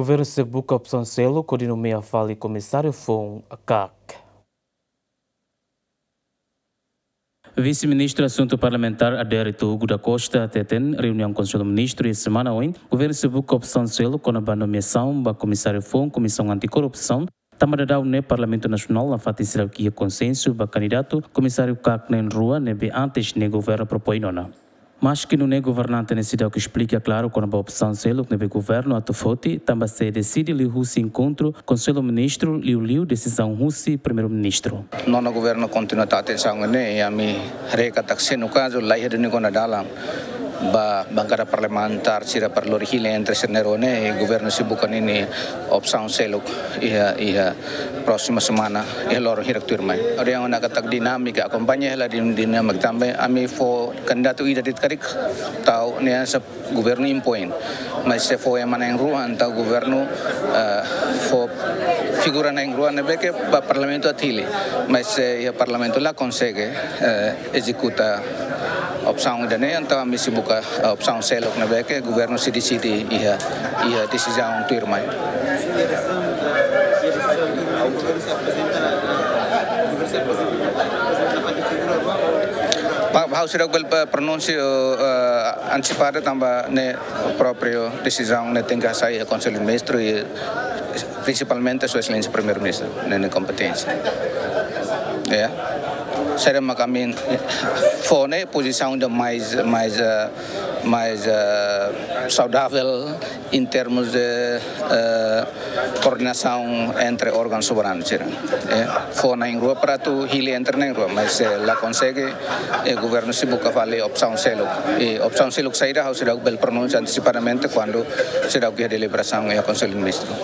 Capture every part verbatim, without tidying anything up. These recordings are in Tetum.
Governu sei buka opsaun seluk hodi nomeia fali komisáriu foun KAK. Vise-Ministru Asuntu Parlamentár Adérito Hugo da Costa hateten, reuniaun Konsellu Ministru iha semana oin, governu sei buka opsaun seluk kona-ba nomeasaun ba komisáriu foun Komisaun Anti-Korrupsaun, tanba daudaun ne'e Parlamentu Nasionál nafatin seidauk iha konsensu ba kandidatu komisáriu KAK na'in-rua ne'ebé antes ne'e governu propoin ona. Maski nune'e governante ne'e seidauk esplika klaru kona-ba opsaun seluk ne'ebé governu atu foti, tanba sei deside liuhusi enkontru Konsellu Ministru, liuliu desizaun husi Primeiru-Ministru. Nonu governu kontinua tau atensaun ne'e, i ami haree katak se no kazu laiha duni kona dalan ba bankada parlamentár sira para lori hili entre sira na'in-rua ne'e, governu sei buka ninia opsaun seluk iha, iha próxima semana, iha loron hirak tuirmai. Hodi hanoin katak dinámika, akompaña hela din-, dinámika tanba ami fó kandidatu ida de'it karik, tau ne'e sa governu impoin. Mas se fó ema na'in-rua, entaun governu, eh, fó figura na'in-rua ne'ebé ke ba Parlamentu atu hili. Mas se iha Parlamentu la konsege, eh, ezekuta opsaun ida-ne'e, entaun ami sei buka, eh, opsaun seluk ne'ebé ke governu sei deside iha, iha desizaun tuirmai. Pa-, ha'u seidauk bele, eh, pronunsia, eh, antisipadu tanba ne'e própriu desizaun ne'e tenke hasai iha Konsellu Ministru i prinsipalmente Sua Exelénsia Primeiru-Ministru, ne'e nia kompeténsia. Ya. Saida mak ami fó ne'e pozisaun ida mais, mais, eh, mais, eh, saudável em termos de, eh, koordenasaun entre órgaun soberanu sira. Eh, fó na'in-rua para atu hili entre na'in-rua, mas se la konsege, eh, governu sei buka fali opsaun seluk. I opsaun seluk saida ha'u seidauk bele pronunsia antisipadamente kuandu seidauk iha deliberasaun iha Konsellu Ministru.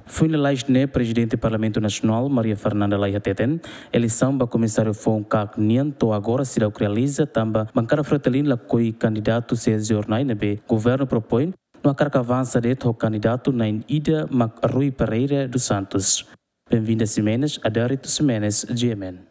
Foin lalais ne'e, Prezidente Parlamentu Nasionál, Maria Fernanda Lay hateten, eleisaun ba komisáriu foun KAK nian to'o agora seidauk realiza tanba bankada Fretilin lakohi kandidatu sei iha jornál ne'ebé governu propoin, no hakarak avansa de'it ho kandidatu na'in-ida mak Rui Pereira dos Santos. Benvinda Ximenes, Adérito Ximenes, G M N.